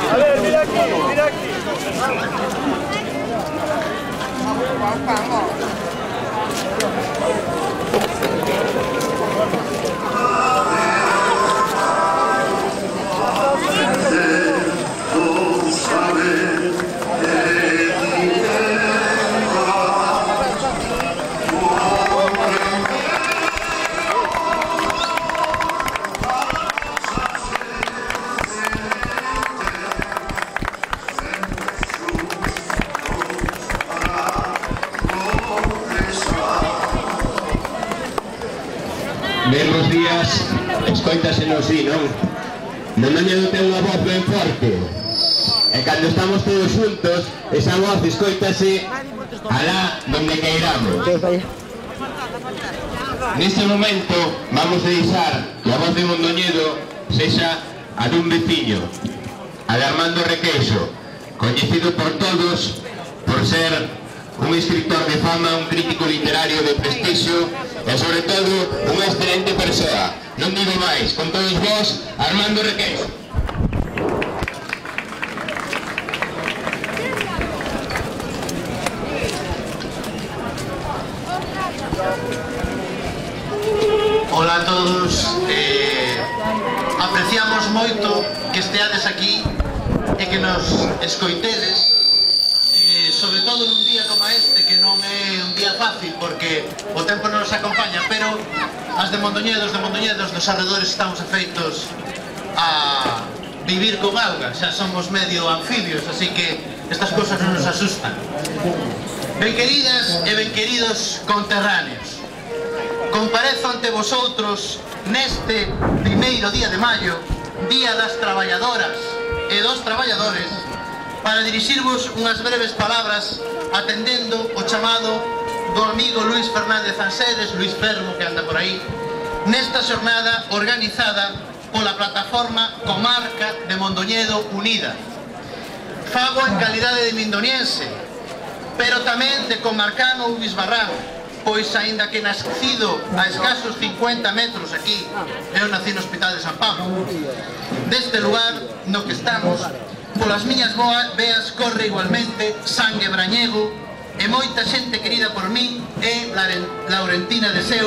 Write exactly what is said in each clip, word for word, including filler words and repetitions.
A ver, mira aquí, mira aquí. Bemos días, escoítase no sí, non? Mondoñedo ten unha voz ben forte. E cando estamos todos xuntos, esa voz escoítase alá donde queiramos. Neste momento vamos a deixar que a voz de Mondoñedo sexa a dun veciño, a de Armando Requeixo, coñecido por todos por ser un escritor de fama, un crítico literario de prestixio e, sobre todo, unha excelente persoa. Non digo máis, con todos vós, Armando Requeixo. Ola a todos, eh, apreciamos moito que esteades aquí e que nos escoitedes, eh, sobre todo nun día como este, que non é un día fácil porque o tempo non nos acompaña, pero as de Mondoñedo, os de Mondoñedo, dos arredores estamos afeitos a vivir con auga, xa somos medio anfibios, así que estas cosas non nos asustan. Ben queridas e ben queridos conterráneos, comparezo ante vosotros neste primeiro día de maio, Día das Traballadoras e dos Traballadores, para dirixirvos unhas breves palabras atendendo o chamado do amigo Luís Fernández Anseres, Luís Fermo, que anda por aí, nesta xornada organizada pola plataforma Comarca de Mondoñedo Unida. Fago en calidade de mindoniense, pero tamén de comarcano ou bisbarrán, pois aínda que nascido a escasos cincuenta metros aquí, eu nací no Hospital de San Pablo, deste lugar no que estamos, polas miñas veas corre igualmente sangue brañego e moita xente querida por min é Laurentina de Seu,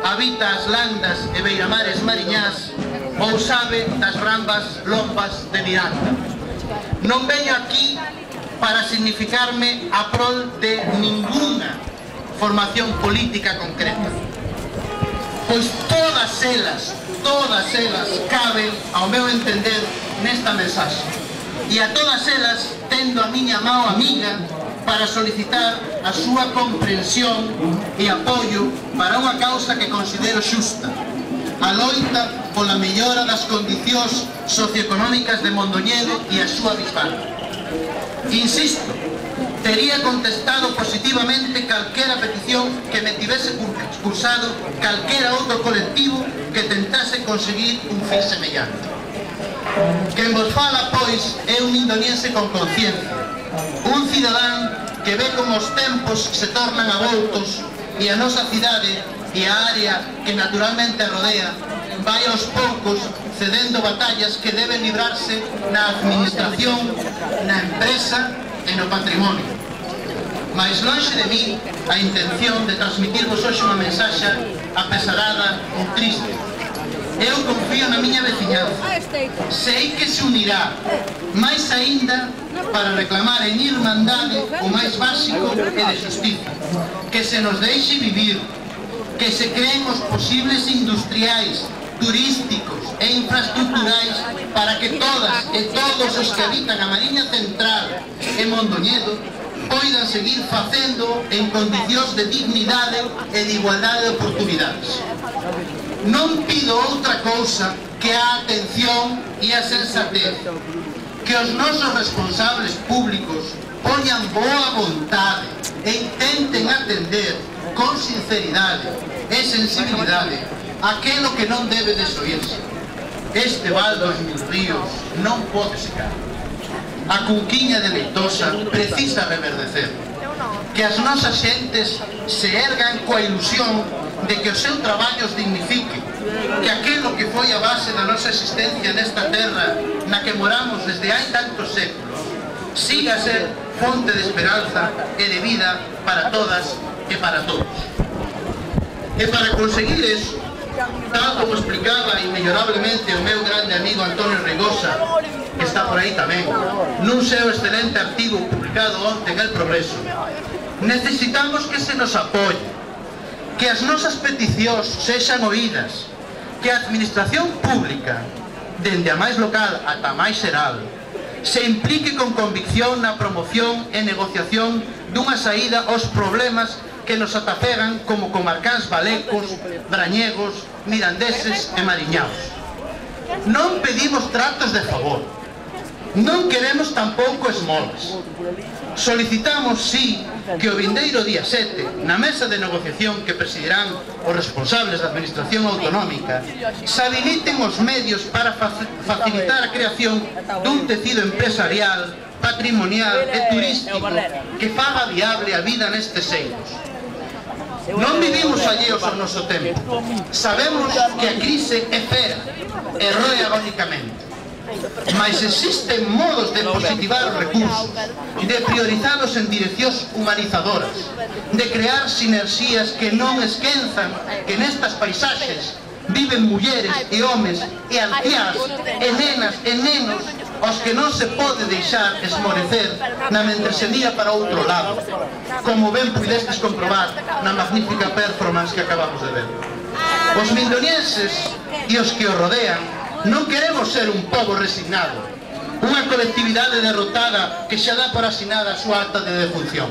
habita as landas e beiramares mariñás ou sabe das brambas lombas de Miranda. Non veño aquí para significarme a prol de ninguna formación política concreta, pois todas elas, todas elas caben, ao meu entender, nesta mensaxe. E a todas elas tendo a miña mao amiga para solicitar a súa comprensión e apoio para unha causa que considero xusta, a loita pola mellora das condicións socioeconómicas de Mondoñedo e a súa bisbarra. Insisto, tería contestado positivamente calquera petición que me tivese cursado calquera outro colectivo que tentase conseguir un fin semellante. Quen vos fala, pois, é un mindoniense con conciencia, un cidadán que ve como os tempos se tornan avoltos e a nosa cidade e a área que naturalmente a rodea vai aos poucos cedendo batallas que deben librarse na administración, na empresa e no patrimonio. Mais lonxe de mí a intención de transmitirvos hoxe unha mensaxe apesarada ou triste. Eu confío na miña veciñanza, sei que se unirá, máis aínda para reclamar en irmandade o máis básico e de xustiza, que se nos deixe vivir, que se creen os posibles industriais, turísticos e infraestructurais para que todas e todos os que habitan a Mariña Central e Mondoñedo poidan seguir facendo en condicións de dignidade e de igualdade de oportunidades. Non pido outra cousa que a atención e a sensatez, que os nosos responsables públicos poñan boa vontade e intenten atender con sinceridade e sensibilidade aquilo que non debe desoírse. Este val dos mil ríos non pode secar. A Cunquiña de Leitosa precisa reverdecer. Que as nosas xentes se ergan coa ilusión de que o seu traballo os dignifique, que aquilo que foi a base da nosa existencia nesta terra na que moramos desde hai tantos séculos siga a ser fonte de esperanza e de vida para todas e para todos. E para conseguir eso, tal como explicaba inmellorablemente o meu grande amigo Antonio Reigosa, que está por aí tamén, nun seu excelente artigo publicado onte en El Progreso, necesitamos que se nos apoie, que as nosas peticións sexan oídas, que a administración pública, dende a máis local ata a máis xeral, se implique con convicción na promoción e negociación dunha saída aos problemas que nos atafegan como comarcáns valecos, brañegos, mirandeses e mariñaos. Non pedimos tratos de favor, non queremos tampouco esmolas. Solicitamos, sí, que o vindeiro día sete, na mesa de negociación que presidirán os responsables da Administración Autonómica, se habiliten os medios para facilitar a creación dun tecido empresarial, patrimonial e turístico que faga viable a vida nestes eidos. Non vivimos alleos ao noso tempo. Sabemos que a crise é fera e roe agónicamente. Mas existen modos de positivar os recursos, de priorizalos en direccións humanizadoras, de crear sinerxías que non esquenzan que nestas paisaxes viven mulleres e homes e anciás e nenas e nenos aos que non se pode deixar esmorecer na mentresenía para outro lado, como ben pudestes comprobar na magnífica performance que acabamos de ver. Os mindonienses e os que os rodean non queremos ser un pobo resignado, unha colectividade derrotada que xa dá por asinada a súa acta de defunción.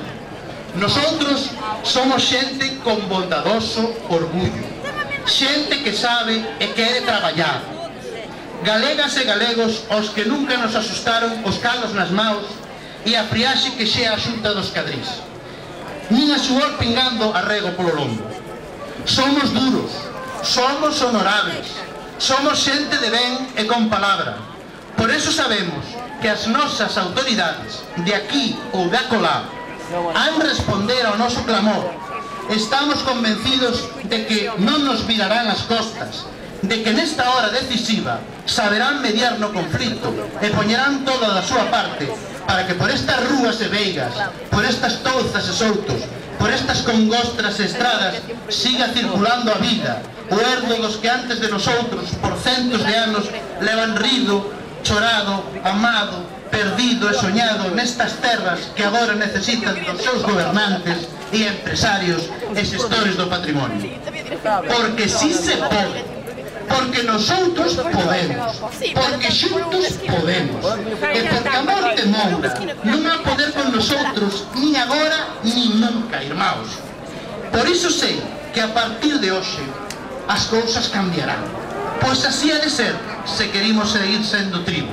Nosotros somos xente con bondadoso orgullo, xente que sabe e quere traballar, galegas e galegos aos que nunca nos asustaron os calos nas maus e a friaxe que xea a xunta dos cadrís, nin a suor pingando a rego polo lombo. Somos duros, somos honorables, somos xente de ben e con palabra. Por eso sabemos que as nosas autoridades de aquí ou de acolá han responder ao noso clamor. Estamos convencidos de que non nos virarán as costas, de que nesta hora decisiva saberán mediar no conflito e poñerán toda da súa parte para que por estas rúas e veigas, por estas touzas e soutos, por estas congostras e estradas siga circulando a vida, o herdo dos que antes de nosotros por centos de anos levan rido, chorado, amado, perdido e soñado nestas terras que agora necesitan dos seus gobernantes e empresarios e xestores do patrimonio. Porque si se pode, porque nosotros podemos, porque xuntos podemos, e porque a morte moura non vai poder con nosotros nin agora nin nunca, irmãos. Por iso sei que a partir de hoxe as cousas cambiarán, pois así ha de ser se queremos seguir sendo tribo,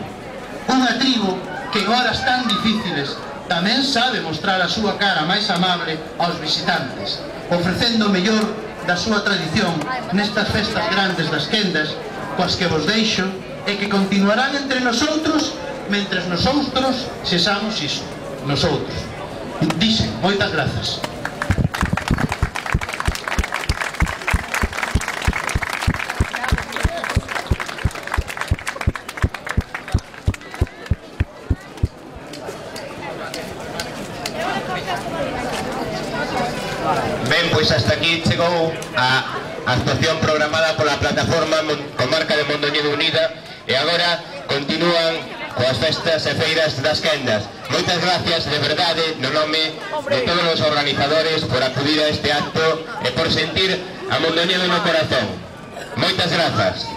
unha tribo que en horas tan difíciles tamén sabe mostrar a súa cara máis amable aos visitantes, ofrecendo o mellor da súa tradición nestas festas grandes das quendas, coas que vos deixo e que continuarán entre nosotros mentres nosotros sexamos iso, nosotros. Dixen, moitas grazas. Ben, pois hasta aquí chegou a actuación programada pola plataforma Comarca de Mondoñedo Unida e agora continúan coas festas e feiras das quendas. Moitas gracias de verdade no nome de todos os organizadores por acudir a este acto e por sentir a Mondoñedo no corazón. Moitas grazas.